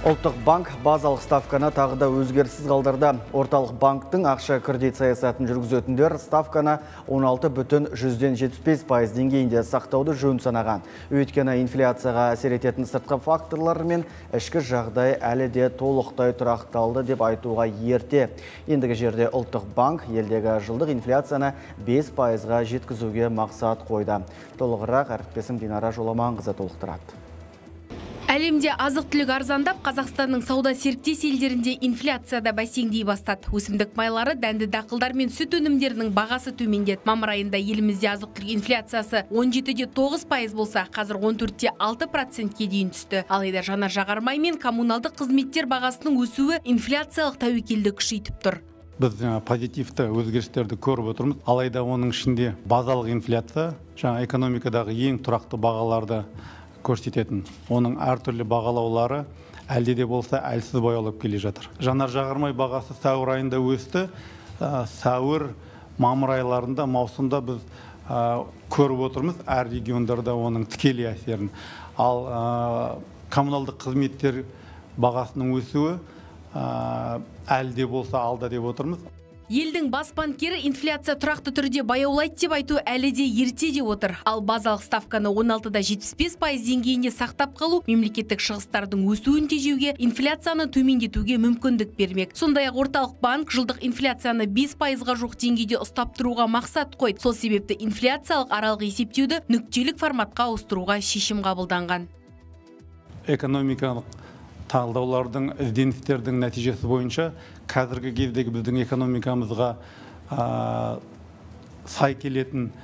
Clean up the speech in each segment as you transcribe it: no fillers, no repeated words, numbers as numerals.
Ұлттық банк базалық ставканы тағы да өзгеріссіз қалдырды. Орталық банктың ақша кредит саясатын жүргізетіндер ставканы 16,75% деңгейінде сақтауды жөн санаған. Өйткені инфляцияға әсер ететін сыртқы факторлар мен ішкі жағдай әлі де толықтай тұрақталды деп айтуға ерте. Ендігі жерде Ұлттық банк елдегі жылдық инфляцияны 5%-ға жеткізуге мақсат қойды. Толығырақ әріптесім Динара Жоламанқызы толықтырады. Әлемде азық-түлік арзандап, Қазақстанның сауда серіктес елдерінде инфляцияда бәсеңдей бастады. Өсімдік майлары, дәнді дақылдар мен сүт өнімдерінің бағасы төмендеді. Мамыр айында елімізде азық-түлік инфляциясы 17,9% болса, қазір 14,6%-ке дейін түсті. Алайда жанар-жағармай мен коммуналдық қызметтер бағасының өсуі инфляциялық тәуекелді күшейтіп тұр. Біз позитивті өзгерістерді көріп отырмыз. Алайда оның ішінде базалық инфляция, жаңа экономикадағы ең тұрақты бағаларды көрсететін. Оның әртүрлі бағалаулары әлде де болса әлсіз баяулап келе жатыр. Жанар-жағармай бағасы сәуір айында өсті. Сәуір, мамыр айларында, маусымда біз көріп отырмыз әр региондарда оның тікелей әсерін. Ал коммуналдық қызметтер бағасының өсуі әлде де болса алда деп отырмыз. Елдің бас банкері инфляция тұрақты түрде баяулайды деп айту әлі де ерте деп отыр. Ал базалық ставканы 16,75% деңгейінде сақтап қалу мемлекеттік шығыстардың өсуін тежеуге, инфляцияны төмендетуге мүмкіндік бермек. Сондай-ақ орталық банк жылдық инфляцияны 5%-ға жоқ деңгейде ұстап тұруға мақсат қойды. Сол себепті инфляциялық аралық есептеуді нүктелік форматқа ауыстыруға шешім қабылданған. Экономикалық талдаулардың, ізденістердің нәтижесі бойынша қазіргі кездегі біздің экономикамызға сай келетін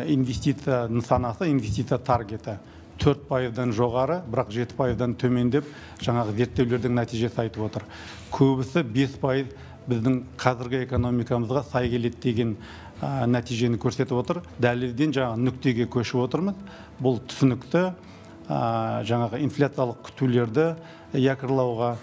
инвестиция нысанасы, инвестиция таргеті 4%-дан жоғары, бірақ 7%-дан төмендеп, жаңағы зерттеулердің нәтижесі айтып отыр. Көбісі 5% біздің қазіргі экономикамызға сай келеді деген нәтижені көрсетіп отыр. Дәлелден жаңағы нүктеге көшіп отырмыз. Бұл түсінікті жаңағы инфляциялық күтулерді якырлауға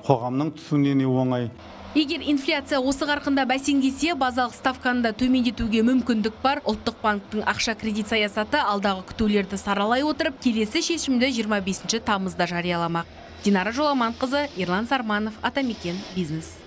қоғамның түсінуіне оңай. Егер инфляция осы қарқында бәсеңдесе, базалық ставканы да төмендетуге мүмкіндік бар. Ұлттық банктың ақша кредит саясаты алдағы күтулерді саралай отырып, келесі шешімді 25 тамызда жарияламақ. Динара Жоламанқызы, Ерлан Сарманов, Атамекен бизнес.